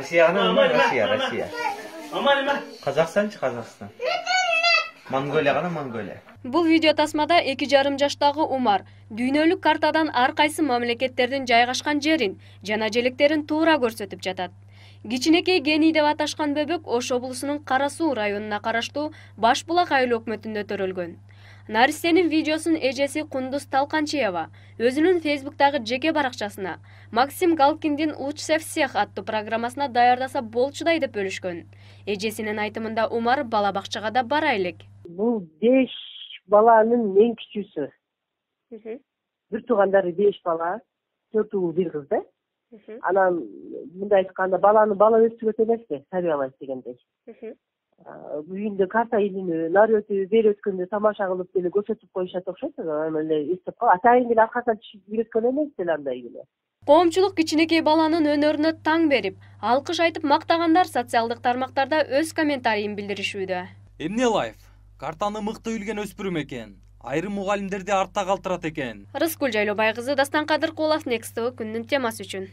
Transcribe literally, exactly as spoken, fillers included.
Россия гана, Россия, Россия. Казакстанчы, Казакстан. Монголия гана, Монголия. Бул видео тасмада эки жарым жаштагы Умар дүйнөлүк картадан ар кайсы мамлекеттердин жайгашкан жерин жана желектерин туура көрсөтүп жатат. Кичинекей Гений деп аташкан бөбөк Ош облусунун Кара Суу районуна караштуу Баш Булак айыл өкмөтүндө төрөлгөн. Наристенин видеосун эжеси Кундуз Талканчиева өзүнүн Фейсбуктагы жеке баракчасына Максим Галкиндин «Лучше всех» аттуу программасына даярдаса болчудай деп бөлүшкөн. Эжесинин айтымында Умар бала бакчага да бара элек. Бул беш баланын эң кичүүсү. Бир туугандары беш бала, төрт уул бир кыз да. Анан мындай айтканда баланы бала өстүрөт эмеспи, тарбиялайт дегендей. Үйүндө карта илинүү, нары өтүп, бери өткөндө тамаша кылып деле көрсөтүп коюшат окшойт. Анан эле эстеп калып, атайын эле аркасынан түшүп үйрөткөн эмес деле андай эле. Коомчулук кичинекей баланын өнөрүнө таң берип, алкыш айтып мактагандар социалдык тармактарда өз комментарийин билдиришүүдө. Эмне лайф? Картаны мыкты билген өспүрүм экен. Айрым мугалимдерди артта калтырат экен. Рыскүл Жайлообай кызы, Дастан Кадыркулов, Next T V күндүн темасы үчүн.